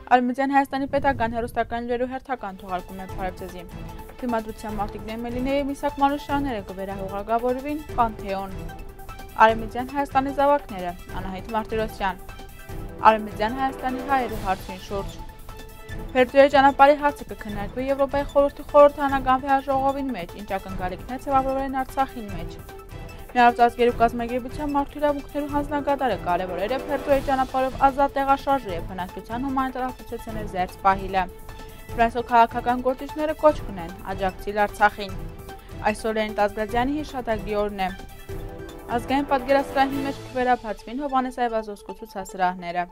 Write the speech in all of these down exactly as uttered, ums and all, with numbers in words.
Արևմտյան Հայաստանի պետական հեռուստական լուրերու հերթական թողարկումներ Փարեվձեզի։ Թիմադրության մարտիկներ Մելինեի Միսակ Մանուշյանները կվերահողագավորվին Պանթեոն։ Արևմտյան Հայաստանի զավակները Անահիտ Մարտիրոսյան։ Արևմտյան Հայաստանի հայերու հարցին շուրջ։ Փերձուի ճանապարհի հարցը կքննարկվի Եվրոպայի խորհրդի խորհրդանական վեհաժողովին մեջ, ինչ ակնկալիքն է ձևավորեն Արցախին մեջ։ Միավորված կազմակերպության մարդու իրավունքներու հանձնագետարը կարևորել է Փերձուի ճանապարհով ազատ տեղաշարժը եւ բնակչության հումանիտար ասոցիացիաների զերծ պահելը։ Ֆրանսիո քաղաքական գործիչները կոչ կունեն աջակցել Արցախին։ Այսօր Լեոնիդ Ազգազյանի հիշատակի օրն է։ Ազգային պատկերասրահի մեջ կվերաբացվին Հովհաննես Այվազովսկու ցուցասրահները։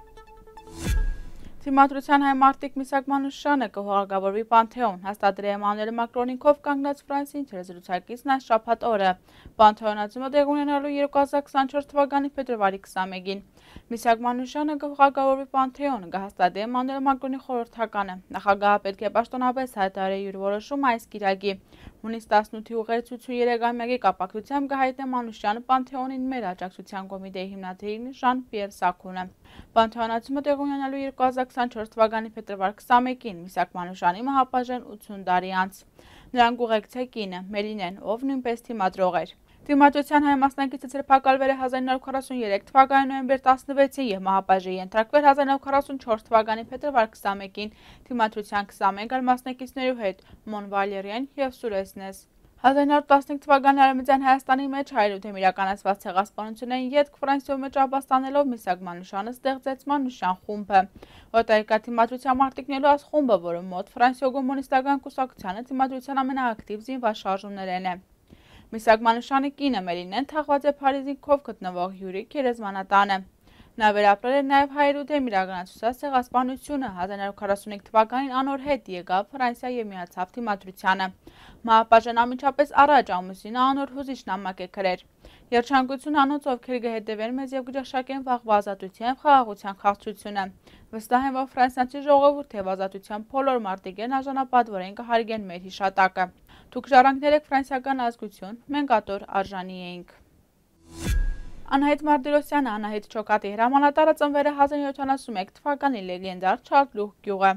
Թիմադրության հայ մարտիկ Միսակ Մանուշյանը կհողագավորվի Պանթեոն, հաստատել է Էմանուել Մակրոնի քով կանգնած Ֆրանսիին թերազրուցակիցն այս շաբաթ օրը։ Պանթեոնացումը տեղի ունենալու երկու հազար քսաներորդ թվականի փետրվարի քսանմեկին։ Միսակ Մանուշյանը կհողագավորվի Պանթեոն, կհաստատի Էմանուել Մակրոնի խորհրդականը։ Նախագահը պետք է պաշտոնապես հայտարարի իր որոշումը այս կիրակի։ Հունիս տասնութի ուղերձություններեգամյակի կապակցությամբ կհայտնի Մանուշյանը Պանթեոնին մեր աջակցության կոմիտեի հիմնադիրին Ժան-Պիեր Սաքունը։ Պանթեոնացումը տեղի ունենալու երկու հազար քսաներորդ թվականի փետրվար քսանմեկին Միսակ Մանուշյանի մահապատժեն ութուն տարի անց։ Նրան կուղեկցե կինը Մելինեն, ով նույնպես թիմադրող էր։ Թիմադրության հայ մասնակիցը ձերբակալվել է հազար նույն հարյուր քառասուներեք թվականի նոյեմբեր տասնվեցին եւ մահապատժի ենթարկվել հազար նույն հարյուր քառասունչորս թվականի փետրվար քսանմեկին թիմադրության քսանմեկ այլ մասնակիցներու հետ Մոն Վալերիան եւ Սուրեսնես։ հազար նույն հարյուր տասնինը թվականի Արևմտյան Հայաստանի մեջ հայրութեմ իրականացված ցեղասպանություններին ետք Ֆրանսիոյի մեջ ապաստանելով Միսակ Մանուշյանը ստեղծեց Մանուշյան խումբը։ Օտարիկա թիմադրության մարտիկներու այս խումբը, որը մոտ Ֆրանսիո կոմունիստական կուսակցությանը թիմադրության ամենաակտիվ զինված շարժումներն է։ Միսակ Մանուշյանի կինը Մելինեն թաղված է Փարիզի քով գտնվող Յուրի գերեզմանատանը։ Նա վերապրել է նաև հայրութեմ իրականացված ցեղասպանությունը հազար նույն հարյուր քառասունհինգ թվականին անոր հետ եկավ Ֆրանսիա եւ միացավ թիմադրությանը։ Մահապատժեն անմիջապես առաջ ամուսինը անոր հուզիչ նամակ է գրել։ Երջանկություն անոնց, ովքեր կհետևեն մեզ եւ կճաշակեն վաղվա ազատության եւ խաղաղության քաղցրությունը։ Վստահ եմ, որ ֆրանսիացի ժողովուրդը եւ ազատության բոլոր մարտիկներն արժանապատվորեն կհարգեն մեր հիշատակը։ Դուք ժառանգներ եք ֆրանսիական ազգություն, մենք ատոր արժանի էինք։ Անահիտ Մարտիրոսյանը Անահիտ Չոկատի հրամանատարը ծնվել է հազար յոթ yüz ութանասունմեկ թվականի լեգենդար Չարլուխ գյուղը։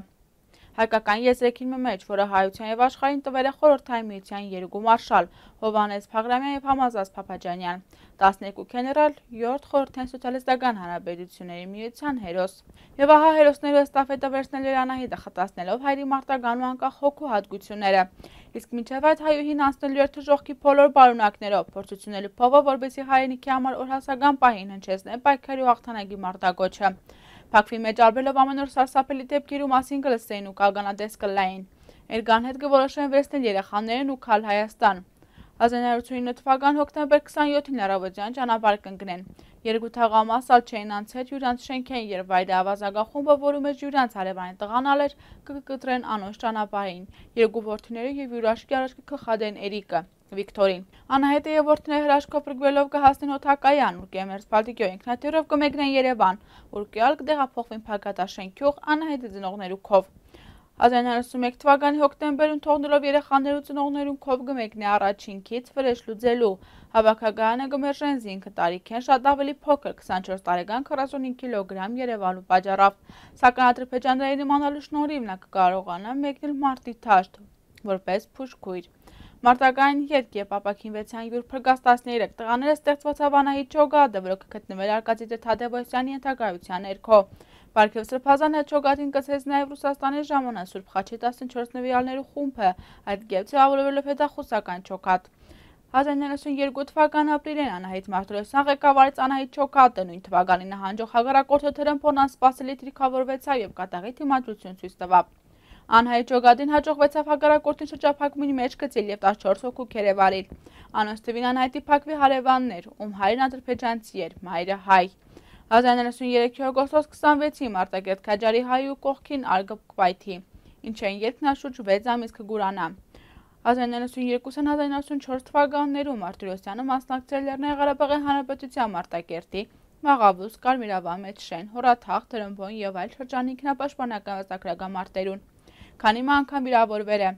Հայկական եզրեքին մեջ, որը հայության եւ աշխարհին տվել է խորհրդային միության երկու մարշալ Հովհաննես Փաղրամյան եւ Համազած Փափաջանյան, տասներկու գեներալ, յոթ խորհրդային սոցիալիստական հանրապետությունների միության հերոս։ Եվ ահա հերոսներու էստաֆետը վերցնել էր Անահիտը խտացնելով հայրի մարտական ու անկախ հոգու հատկությունները։ Իսկ մինչև այդ հայուհին անցնելու էր թժողքի բոլոր բարունակներով, փորձությունելու փողը, որպեսզի հայրենիքի համար օրհասական պահին հնչեցնե պայքարի ու հաղթանակի մարտակոչը։ Փակվի մեջ արբելով ամեն օր սարսափելի դեպքերու մասին կլսեին ու կալկանատես կլային։ Էրգան հետ կորոշեն վերցնել երեխաներն ու քալ Հայաստան։ հազար նույն հարյուր ութսունինը թվական հոկտեմբեր քսանյոթին լարավոճյան ճանապարհ կընկնեն։ Երկու թաղամասալ չէին անցել յուրանց շենքեն եւ վայրի ավազագախումբը, որում մեջ յուրանց հարևանի տղանալ էր, կկտրեն անոնց ճանապարհին։ Երկու որդիները եւ յուրաշկի առաջ կխադեն Էրիկը, Վիկտորին։ Անահիտը եւ որդիները հրաշքով փրկվելով կհասնեն օթակայան, ուր կեմերց Բալտիկյո ինքնաթիռով կմեկնեն Երևան, ուր կյալ կդեղափոխվին Փակատաշենքյուղ Անահիտի ծնողներու քով։ հազար նույն հարյուր ութսունմեկ թվականի հոկտեմբերին թողնելով երեխաներու ծնողներուն քով կմեկնի առաջինքից վրեժ լուծելու։ Հավաքակայանը կմերժեն զինքը տարիքեն շատ ավելի փոքր քսանչորս տարեկան քառասունհինգ կիլոգրամ Երևանու պատճառով։ Սակայն Ադրբեջանների իմանալու շնորհիվ նա կկարողանա մեկնել մարտի դաշտ որպես փուշկույր։ Մարտական ետք եւ ապակինվեցան յուր փրկած տասներեք տղաները ստեղծվեցավ Անահիտ Չոկատը, որը կգտնվել Արկադի Թադևոսյանի ենթակայության ներքո։ Պարքև Սրբազանը Չոկատին կցեց նաև Ռուսաստանի ժամանակ Սուրբ Խաչի տասնչորս նվիրալներու խումբը, այդ գեւ ձևավորվելով հետախուզական Չոկատ։ հազար նույն հարյուր ութսունյերկու թվական ապրիլին Անահիտ Մարտիրոսյան ղեկավարեց Անահիտ Չոկատը, նույն թվականին նահանջող հակառակորդը թրմփոն անսպասելի թիրքավորվեցավ եւ կատաղի թիմադրություն ցույց տվավ։ Անահիտ Չոկատին հաջողվեցավ հակառակորդին շրջափակումի մեջ գցել եւ տասնչորս հոգու քերեվարել։ Անոնց թվին Անահիտի փակվի հարևաններ, ում հայրն ադրբեջանցի էր, մայրը հայ։ հազար նույն հարյուր ութսուներեքի օգոստոս քսանվեցին Մարտակերտ Քաջարի հայու կողքին արգպկվայթի, ինչեն ետքն շուրջ վեց ամիս կգուրանա։ հազար նույն հարյուր ութսունյերկուսին հազար նույն հարյուր ութսունչորս թվականներում Մարտիրոսյանը մասնակցել Լեռնային Ղարաբաղի Հանրապետության Մարտակերտի, Մաղավուս, Կարմիրավան մեջ շեն, Հորաթաղ, Տրմբոն եւ այլ շրջանի ինքնապաշտպանական վստահագրական մարտերուն։ Քանի անգամ վիրավորվել է։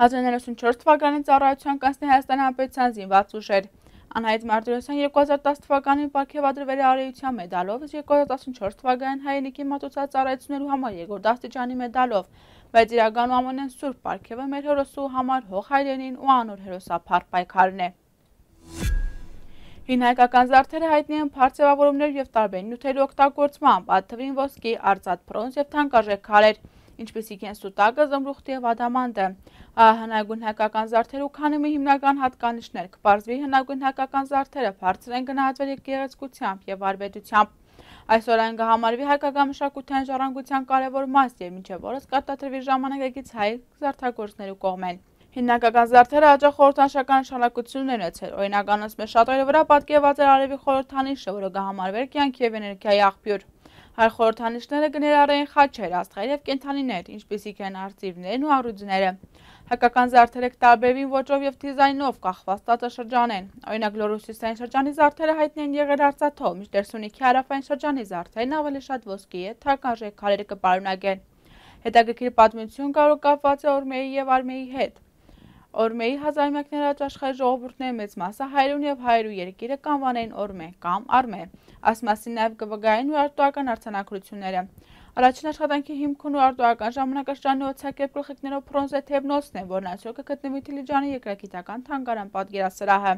հազար նույն հարյուր ութսունչորս թվականին ծառայության կանցնի Հայաստանի Հանրապետության զինված ուժեր։ Անահիտ Մարտիրոսյան երկու հազար տասը թվականին պարգևատրվել է արիության մեդալով, իսկ երկու հազար տասնչորս թվականին հայրենիքի մատուցած ծառայություններու համար երկրորդ աստիճանի մեդալով, բայց իրականում ամենեն սուրբ պարգևը մեր հերոսու համար հող հայրենին ու անոր հերոսափառ պայքարն է։ Հին հայկական զարդերը հայտնի են փառ ձևավորումներով եւ տարբեր նյութերի օգտագործմամբ, այդ թվին ոսկի, արծաթ, բրոնզ եւ թանկարժեք քարեր, ինչպիսիք են սուտակը, զմրուխտը եւ ադամանդը։ Հնագույն հայկական զարդերու քանի մի հիմնական հատկանիշներ կպարզվի հնագույն հայկական զարդերը բարձր են գնահատվել գեղեցկությամբ եւ վարպետությամբ։ Այսօր այն կհամարվի հայկական մշակութային ժառանգության կարևոր մաս եւ մինչեւ օրս կարտադրվի ժամանակակից հայ զարդագործներու կողմեն։ Հիմնակական զարդերը հաճախ խորհրդանշական նշանակություն ունեցել, օրինակ անոնց շատերի վրա պատկերված էր արևի խորհրդանիշը, որը կհամարվեր կյանքի եւ էներգիայի աղբյուր։ Հայ խորհրդանիշները կներառեին խաչեր, աստղեր եւ կենդանիներ, ինչպիսիք են արծիվներն ու առյուծները։ Հայկական զարդերը կտարբերվին ոճով եւ դիզայնով կախված տարածաշրջանեն։ Օրինակ Լոռու-Հյուսիսային շրջանի զարդերը հայտնի են եղել արծաթով, մինչդեռ Սյունիքի հարավային շրջանի զարդերն ավելի շատ ոսկի եւ թանկարժեք քարերը կպարունակեն։ Հետաքրքիր պատմություն կարող կապված է Օրմեի եւ Արմեի հետ։ Օրմեի հազարամյակներ առաջ աշխարհի ժողովուրդների մեծ մասը հայրուն եւ հայրու երկիրը կանվանեին Օրմե կամ Արմե։ Այս մասին նաեւ կվկայեն ու արտոական արձանագրությունները։ Առաջին աշխատանքի հիմքն ու արտոական ժամանակաշրջանի օծակեր գլխիկներով բրոնզե թեբնոցն է, որն այսօր կգտնվի Դիլիջանի երկրագիտական թանգարան պատկերասրահը։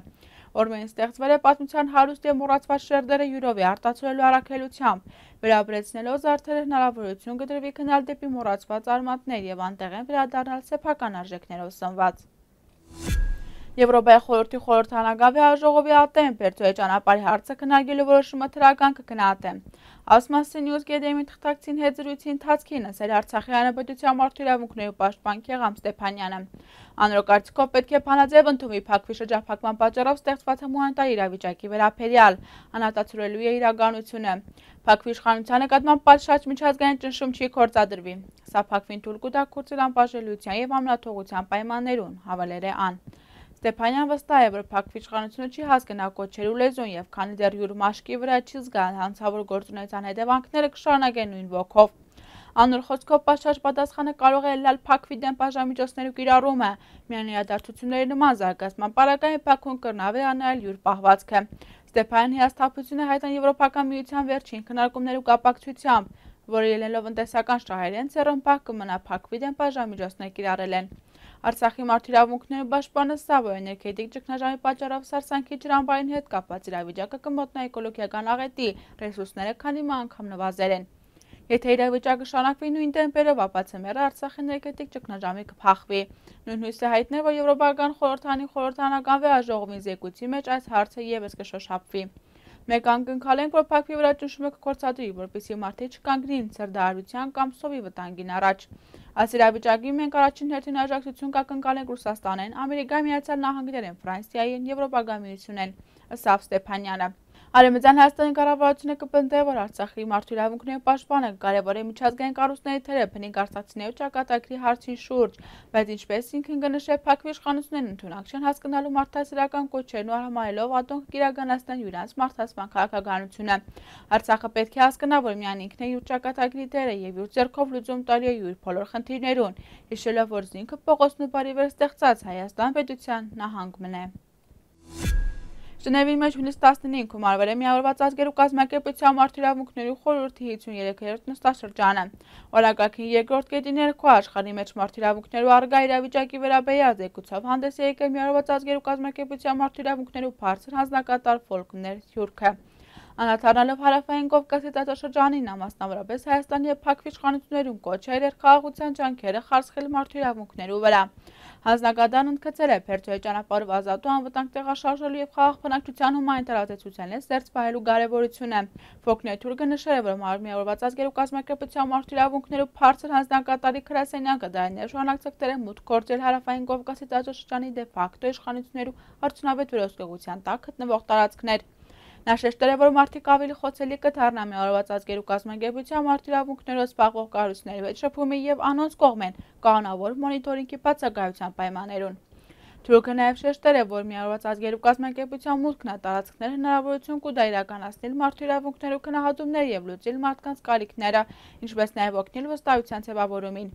Օրմեին ստեղծվել է պատմության հարուստ եւ մոռացված շերտերը յուրովի արտացոլելու առաքելությամբ, վերաբերեցնելով զարդերը հնարավորություն կդրվի գնալ դեպի մոռացված արմատներ եւ անտեղ են վերադառնալ սեփական արժեքներով սնված։ Եվրոպայի խորհրդի խորհրդանագավիաժողովի ատեն Պերտոյի ճանապարհի հարցը քննարկելու որոշումը թրական կգնահատեն։ Ասմասի Նյուզ Գեդեմի թղթակցին հետ զրույցի ընթացքին ասել Արցախի հանրապետության մարդու իրավունքների պաշտպան Քեղամ Ստեփանյանը։ Անոր կարծիքով պետք է բանաձև ընդունվի Փակվի շրջափակման պատճառով ստեղծված հումանիտար իրավիճակի վերաբերյալ, անհատացրելու է իրականությունը։ Փակվի իշխանության նկատմամբ պատշաճ միջազգային ճնշում չի գործադրվի։ Սա Փակվին թույլ կտա կուրծել անբաժանելիության եւ ամենաթողության պայմաններուն, հավելել է ան։ Ստեփանյան վստահ է, որ Փակվի իշխանությունը չի հասկնա կոչերու լեզուն եւ քանի դեռ յուր մաշկի վրա չի զգա հանցավոր գործունեության հետևանքները կշարունակեն նույն ոգով։ Անոր խոսքով պատշաճ պատասխանը կարող է լալ Փակվի դեմ բաժանմիջոցներու կիրառումը, միայն իրադարձությունների նման զարգացման պարագային Փակուն կրնավի անել յուր պահվածքը։ Ստեփանյան հիասթափությունը հայտան Եվրոպական միության վերջին քննարկումներու կապակցությամբ, որը ելնելով ընտեսական շահերեն ցերոմփակ կմնա Փակվի դեմ բաժանմիջոցներ կիրառելեն։ Արցախի մարդու իրավունքների պաշտպանը Սավո էներգետիկ ճգնաժամի պատճառով Սարսանքի ջրամբարին հետ կապված իրավիճակը կմոտնա էկոլոգիական աղետի, ռեսուրսները քանի մը անգամ նվազել են։ Եթե իրավիճակը շարունակվի նույն տեմպերով, ապա ցեմերը Արցախի էներգետիկ ճգնաժամի կփախվի։ Նույն հույսը հայտնել, որ Եվրոպական խորհրդանի խորհրդանական վեաժողովի զեկույցի մեջ այս հարցը եւս կշոշափվի։ Մեկ անկնքալենք, որ Փակվի վրա ճնշումը կգործադրի, որպեսզի մարդիկ չկանգնին ցրդահարության կամ սովի վտանգին առաջ։ Այս իրավիճակի մենք առաջին հերթին աջակցություն կակնկալենք Ռուսաստանեն, Ամերիկայի Միացյալ Նահանգներեն, Ֆրանսիային, Եվրոպական միությունեն, ըստ Ստեփանյանը։ Արևմտյան Հայաստանի կառավարությունը կպնդե, որ Արցախի մարդու իրավունքների պաշտպանը կարևոր է միջազգային կառույցների թերը բնիկ արցախցիների ճակատագրի հարցին շուրջ, բայց ինչպես ինքն կնշե Փակվի իշխանություններն ընդունակ չեն հասկանալու մարդասիրական կոչերն ու արհամարհելով ատոնք կիրականացնեն յուրանց մարդասպան քաղաքականությունը։ Արցախը պետք է հասկանա, որ միայն ինքն է յուր ճակատագրի տերը եւ յուր ձեռքով լուծում տալի է յուր բոլոր խնդիրներուն, հիշելով, որ զինքը Պողոս Նուբարի վեր ստեղծած Հայաստան պետության նահանգն է։ Ժնևի մեջ հունիս տասնինը արվել է միավորված ազգերու կազմակերպության մարդու իրավունքների խորհրդի հինգսունուերորդ նստաշրջանը։ Օրակարգի երկրորդ կետի ներքո աշխարհի մեջ մարդու իրավունքներու առկա իրավիճակի վերաբերյալ զեկուցով հանդես է եկել միավորված ազգերու կազմակերպության մարդու իրավունքներու բարձր հանձնակատար Ֆոլկներ Թյուրքը։ Անդրադառնալով Հարավային Կովկասի տարածաշրջանին, մասնավորապես Հայաստանի եւ Փակվի իշխանություններուն կոչել էր խաղաղության ջանքերը խարսխել մարդու իրավունքներու վրա։ Հանձնակատարն ընդգծել է Պերտոյի ճանապարհով ազատ ու անվտանգ տեղաշարժելու եւ խաղաղ բնակչության հումանիտար ազդեցության հետ զերծ պահելու կարեւորությունը։ Ֆոլկներ Թյուրքը նշել է, որ միավորված ազգերու կազմակերպության մարդու իրավունքներու բարձր հանձնակատարի գրասենյակը դարիներ շարունակ ցկտել է մուտք գործել Հարավային Կովկասի տարածաշրջանի դե ֆակտո իշխանություններու արդյունավետ վերահսկողության տակ գտնվող տարածքներ։ Նա շեշտել է, որ մարդիկ ավելի խոցելի կդառնան միավորված ազգերու կազմակերպության մարդու իրավունքներով զբաղվող կառույցների հետ շփումի եւ անոնց կողմեն կանոնավոր մոնիտորինգի բացակայության պայմաններուն։ Թուրքը նաև շեշտել է, որ Միավորված ազգերի կազմակերպության մուտքն է տարածքներ հնարավորություն կուտա իրականացնել մարդու իրավունքներու քննադատումներ եւ լուծել մարդկանց կարիքները, ինչպես նաև օգնել վստահության ձևավորումին։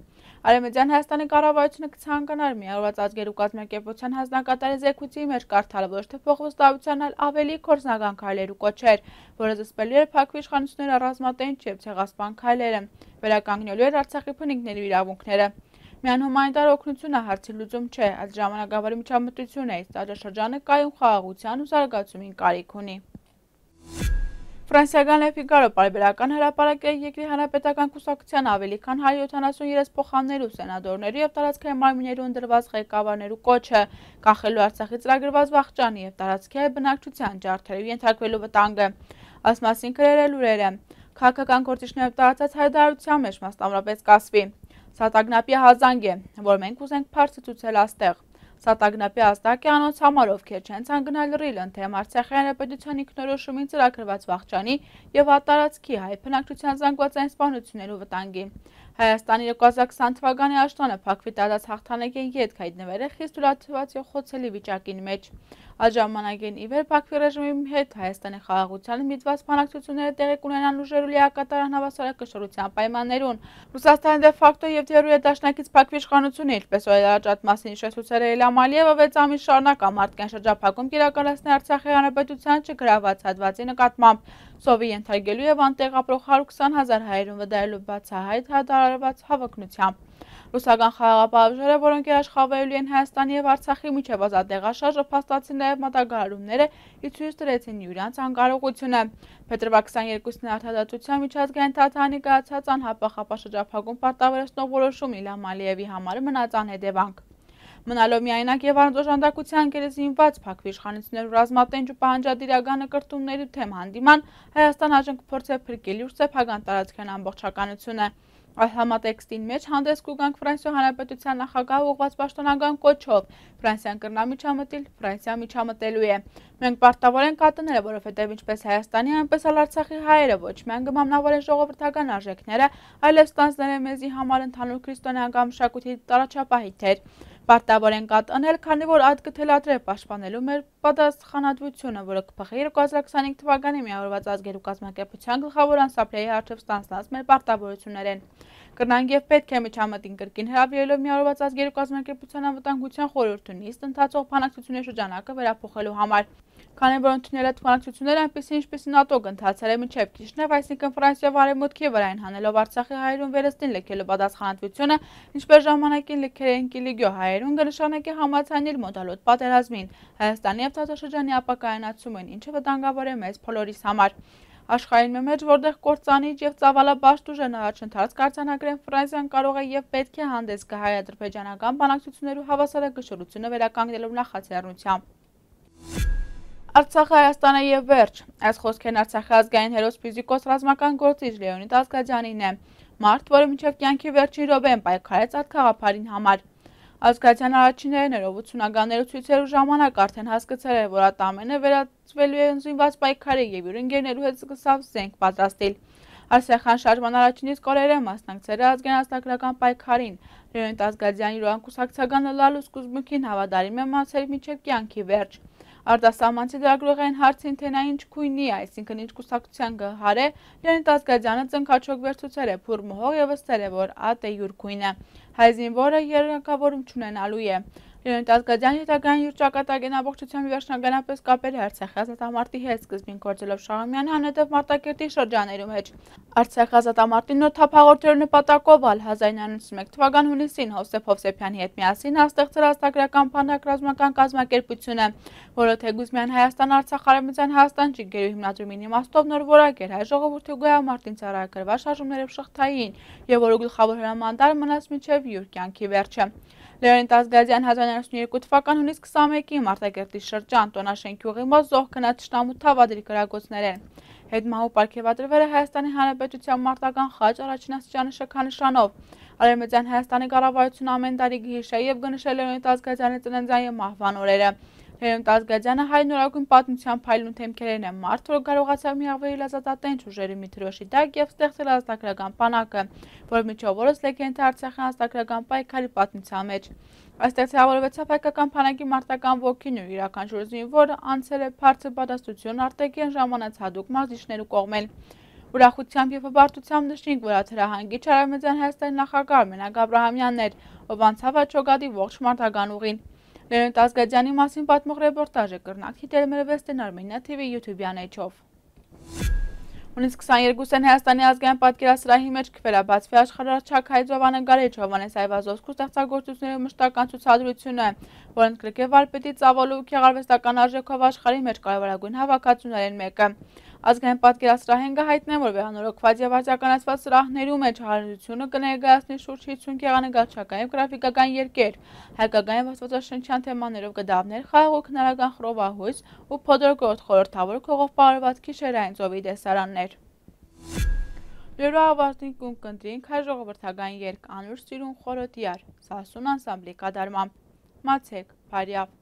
Արևմտյան Հայաստանի կառավարությունը կցանկանար Միավորված ազգերի կազմակերպության հանձնակատարի զեկույցի մեջ կարդալ ոչ թե փոխվստահության, այլ ավելի կորձնական քայլերու կոչեր, որը զսպելու էր փակ իշխանությունների առանձնատենչ եւ ցեղասպան քայլերը, վերականգնելու էր Արցախի բնիկների իրավունքները։ Միայն հումանիտար օգնությունը հարցի լուծում չէ, այլ ժամանակավորի միջամտություն է, իսկ տարածաշրջանը կայուն խաղաղության ու զարգացումին կարիք ունի։ Ֆրանսիական Le Figaro պարբերական հրապարակել է երկրի հանրապետական կուսակցության ավելի քան հարյուր յոթանասուներեք փոխաններու, սենատորներու եւ տարածքային մարմիններու ընդրված ղեկավարներու կոչը, կանխելու Արցախի ծրագրված վախճանի եւ տարածքի բնակչության ջարդերու ենթարկվելու վտանգը։ Այս մասին գրել է լուրերը։ Քաղաքական գործիչներով տարածած հայտարարության մեջ մասնավորապես կասվի. Սա տագնապի հազանգ է, որ մենք ուզենք փարսը ցուցել աստեղ։ Սա տագնապի ազդակ է անոնց համար, ովքեր չեն ցանկանալ լրիլ ընդեմ Արցախի հանրապետության ինքնորոշումին ծրագրված վախճանի եւ ատարածքի հայ բնակչության զանգվածային սպանություններու վտանգի։ Հայաստանի երկու հազար քսան թվականի աշտանը փակվի տարած հաղթանակին յետք հայտնվել է խիստ ուրացված եւ խոցելի վիճակին մեջ։ Այդ ժամանակին ի վեր Բաքվի ռեժիմի հետ Հայաստանի խաղաղությանը միտված բանակցությունները տեղի կունենան ուժերու լիակատար անհավասարակշռության պայմաններուն։ Ռուսաստանի դե ֆակտո եւ դերույա դաշնակից Բաքվի իշխանությունը, ինչպես օրեր առաջ այդ մասին հիշեցուցել է Իլհամ Ալիևը, վեց ամիս շարունակ ամարտկային շրջափակում կիրականացնել Արցախի հանրապետության չգրաված հատվածի նկատմամբ, սովի ենթարկելու եւ անտեղ ապրող հարյուր քսան հազար հայերուն վդարելու բացահայտ հրադարարված հավակնությամբ։ Ռուսական խաղաղապահ, որոնք երաշխավորելու են Հայաստանի եւ Արցախի միջև ազատեղաշարժը, փաստացին նաեւ մտագարումները ի ցույց դրեցին իրանց անկարողությունը։ Փետրվար քսաներկուսին արտադատության միջազգային թատրոնի կայացած անհապաղ ապաշրջափակում պարտավորեցնող որոշում Իլհամ Ալիևի համար մնաց անհետևանք։ Մնալով միայնակ եւ առանձնաժանդակության գերեզինված Բաքվի իշխանություններու ռազմատենչ ու պահանջադիրական նկարտումների թեմ հանդիման Հայաստան հաջող կփորձի փրկել իր սեփական տարածքային ամբողջականությունը։ Այս համատեքստին մեջ հանդես կուգանք Ֆրանսիա հանրապետության նախագահ ուղղված պաշտոնական կոչով Ֆրանսիան կրնա միջամտել, Ֆրանսիա միջամտելու է։ Մենք պարտավոր ենք կատնել, որովհետև ինչպես Հայաստանի, այնպես էլ Արցախի հայերը ոչ միայն կմամնավորեն ժողովրդական արժեքները, այլև ստանձնել են մեզի համար ընդհանուր քրիստոնեական մշակույթի տարաչափահիթեր։ Պարտավոր ենք կատնել, քանի որ այդ կթելադրե պաշտպանելու մեր պատասխանատվությունը, որը կփոխի երկու հազար քսանհինգ թվականի Միավորված ազգերի կազմակերպության գլխավոր անսապրեի առջև ստանձնած մեր պարտավորություններն։ Կրնանք եւ պետք է միջամտին կրկին հրավիրելով Միավորված ազգերի կազմակերպության անվտանգության խորհրդի նիստ ընթացող բանակցությունների շրջանակը վերափոխելու համար։ Քանի որ ընդունել այդ բանակցությունները այնպեսի ինչպեսի ՆԱՏՕ ընթացել է մինչև Կիշնև, այսինքն Ֆրանսիա արևմուտքի վրային հանելով Արցախի հայերուն վերստին լքելու պատասխանատվությունը, ինչպես ժամանակին լքել էին Կիլիգյո հայերուն, կնշանակի համացանել մոդալոտ պատերազմին, Հայաստանի եւ տարածաշրջանի ապակայունացումին, ինչը վտանգավոր է մեզ բոլորիս համար։ Աշխարհին մեջ, որտեղ կործանիչ եւ ծավալաբաշտ ուժերն առաջընթաց կարձանագրեն, Ֆրանսիան կարող է եւ պետք է հանդես գա հայ-ադրբեջանական բանակցություններու հավասարակշռությունը վերականգնելու նախաձեռնությամբ։ Արցախը Հայաստանը եւ վերջ։ Այս խոսքերն Արցախի ազգային հերոս ֆիզիկոս ռազմական գործիչ Լեոնիդ Ազգաջանին է։ Մարդ, որը մինչև կյանքի վերջին րոպեն պայքարեց այդ խաղապարին համար։ Ազգաջան առաջիններն էր, ութսունականներու ցույցերու ժամանակ արդեն հասկացել էր, որ այդ ամենը վերածվելու է զինված պայքարի եւ իր ընկերներու հետ սկսավ զենք պատրաստել։ Արցախյան շարժման առաջին իսկ օրերը մասնակցել է ազգային ազգագրական պայքարին։ Լեոնիդ Ազգաջյանի յուրանկուսակցական լալու սկզբունքին հավատարիմ է մնացել մինչև կյանքի վերջ։ Արտասահմանցի դրագրողային հարցին թե նա ինչ քույնի է, այսինքն ինչ կուսակցության գահար է, Լեոնիդ Ազգաջյանը ծնկաչոք վերցուցել է փուռ մոհող եւ ըստել է, որ ատ է յուր քույնը։ Հայ զինվորը երակավորում չունենալու է։ Լեոնիդ Ազգաջյանը հետագային յուր ճակատագին ամբողջությամբ վերջնականապես կապել է Արցախի ազատամարտի հետ, սկզբին գործելով Շահումյանի անհետև Մարտակերտի շրջաներում մեջ։ Արցախի ազատամարտին նոր թափաղորդելու նպատակով ալ հազար իննյակ ութ մեկ թվական հունիսին Հովսեփ Հովսեփյանի հետ միասին ստեղծել ազատագրական բանակ ռազմական կազմակերպությունը, որը թեկուզ միայն Հայաստան-Արցախ արևմտյան Հայաստան ջիգերու հիմնադրումին իմաստով նոր որակ էր հայ ժողովրդի գոյամարտին ծառայագրված շարժումներով շղթային եւ որը գլխավոր հրամանատար մնաց մինչեւ յուր կյանքի վերջը։ Լեոնիդ Ազգաջյան հազար իննյակ ութ երկու թվական հունիս քսանմեկին Մարտակերտի շրջան Տոնաշեն գյուղի մոտ զոհ գնաց Շտամու թավադրի գրագործներեն։ Հետմահու պարգևատրվել է Հայաստանի Հանրապետության մարտական խաչ առաջին աստիճանի շքանշանով։ Արևմտյան Հայաստանի կառավարությունը ամեն տարի գհիշե եւ գնշել Լեոնիդ Ազգաջյանի ծննդյան եւ մահվան օրերը։ Լևոնտ Ազգաջյանը հայ նորագույն պատմության փայլուն թեմքերն է մարդ, որ կարողացավ միավորել ազատատենչ ուժերի մի թրոշի տակ և ստեղծել ազատագրական բանակը, որ միջով օրս լեգենդ է Արցախյան ազատագրական պայքարի պատմության մեջ։ Այստեղ ձևավորվեցավ հայկական բանակի մարտական ոգին ու յուրաքանչյուր զինվոր անցել է բարձր պատասխանատվություն արտաքին ժամանած հատուկ մարզիչներու կողմել։ Ուրախությամբ և հպարտությամբ նշենք, որ աթրահանգիչ Արևմտյան Հայաստանի նախագահ Մենակ Աբրահամյանն էր, ով անցավ Աչոգադի ողջ մարտական ուղին։ Լևոնտ Ազգաջյանի մասին պատմող ռեպորտաժը կրնակ դիտել մեր Վեստեն Արմենիա թի վի յութուբյան էջով։ Հունիսի քսաներկուսին Հայաստանի ազգային պատկերասրահի մեջ կվերաբացվի աշխարհահռչակ հայ ծովանկարիչ Հովհաննես Այվազովսկու ստեղծագործությունների մշտական ցուցադրությունը, որը ընդգրկե վարպետի ծավալու ու գեղարվեստական արժեքով աշխարհի մեջ կարևորագույն հավաքածուներից մեկը։ Ազգային պատկերասրահեն կհայտնեն, որ վերանորոգված և արձականացված սրահներու մեջ հարություն կներկայացնի շուրջ հիսուն գեղանկարչական և գրաֆիկական երգեր, հայկական և աստվածաշնչյան թեմաներով կտավներ, խաղաղ ու քնարական խռովահույս ու փոթորկորթ խորհրդավոր քողով պարուրված գիշերային ծովի տեսարաններ։ Լուրը ավարտին կընտրենք հայ ժողովրդական երգ «Անուր սիրուն խորոտյար» Սասուն անսամբլի կատարմամբ։ Մացեք, բարյավ։